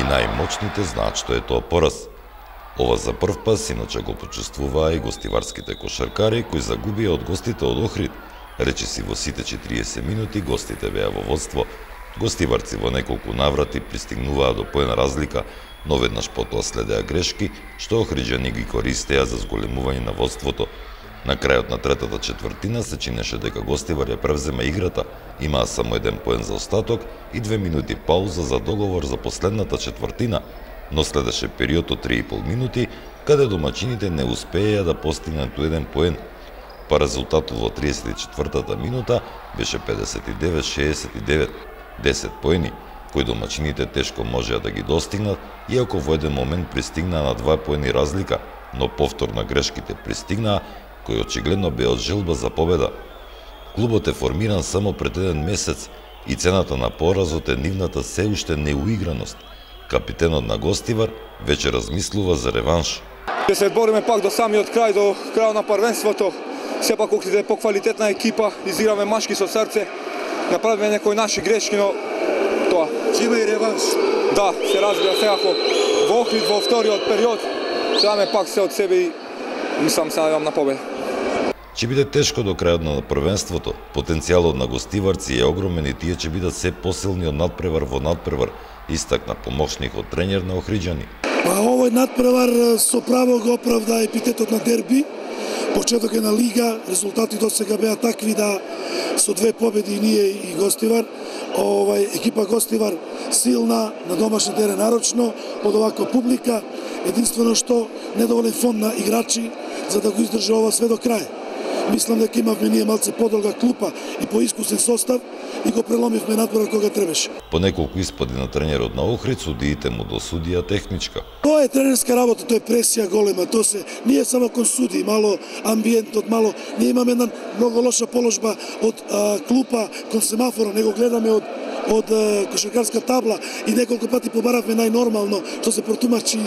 најмоćните знаат што е тоа пораз. Ова за прв пат иначе го почувствуваа и гостиварските кошаркари кои загубија од гостите од Охрид. Речиси во сите 40 минути гостите беа во водство. Гостиварци во неколку наврати пристигнуваа до поен разлика, но веднаш потоа следеа грешки што охриđани ги користеа за зголемување на водството. На крајот на третата четвртина се чинеше дека Гостивар ја превзема играта, имаа само еден поен за остаток и 2 минути пауза за договор за последната четвртина, но следеше период од 3,5 минути каде домачините не успееа да постигнат еден поен. Па резултатот во 34-та минута беше 59-69, 10 поени, кои домачините тешко можеа да ги достигнат, иако во еден момент пристигнаа на 2 поени разлика, но повторно грешките пристигнаа, кој очигледно бе од желба за победа. Клубот е формиран само пред еден месец и цената на поразот е нивната се уште неуиграност. Капитенот на Гостивар веќе размислува за реванш. Ќе се бориме пак до самиот крај, до крајот на првенството. Сепак Охрид е поквалитетна екипа, изиграме машки со срце, направиме некои наши грешки, но тоа. Ќе има и реванш. Да, се разбира секако. Во Охрид во вториот период ќе даме пак се од себе и мислам се надевам на победа. Ќе биде тешко до крајот на првенството. Потенцијалот на гостиварци е огромен и тие ќе бидат се посилни од надпревар во надпревар, истакна помошникот тренер на охриđани. Овој надпревар со право го оправда епитетот на дерби. Почеток е на лига, резултати до сега беа такви да со 2 победи и ние и Гостивар. Екипа Гостивар силна, на домашни терен нарочно, под оваква публика, единствено што недоволен фонд на играчи за да го издржи ова све до крај. Мислам дека имавме ние малце подолга клупа и поискусен состав и го преломивме надпревар кога требаше. По неколку испади на тренерот на Охрид, судиите му досудија техничка. Тоа е тренерска работа, тоа е пресија голема, тоа се ние само кон суди, мало амбиентот, мало ние имаме една многу лоша положба од клупа кон семафора, него гледаме од кошаркарска табла и неколку пати побаравме најнормално што се протумачи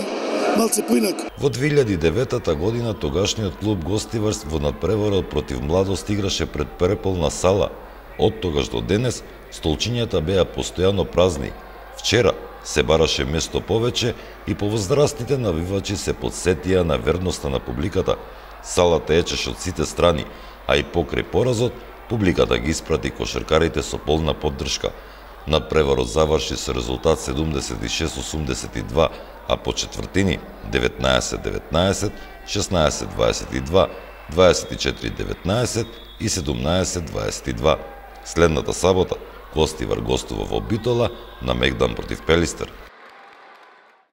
малце поинаку. Во 2009 година тогашниот клуб Гостивар во надпреварот против Младост играше пред преполна сала. Од тогаш до денес столчињата беа постојано празни. Вчера се бараше место повеќе и повозрастните навивачи се подсетија на верноста на публиката. Салата ечеше од сите страни, а и покрај поразот публиката ги испрати кошаркарите со полна поддршка. Надпреварот заврши со резултат 76-82, а по четвртини 19-19, 16-22, 24-19 и 17-22. Следната сабота Гостивар гостува во Битола на Мегдан против Пелистер.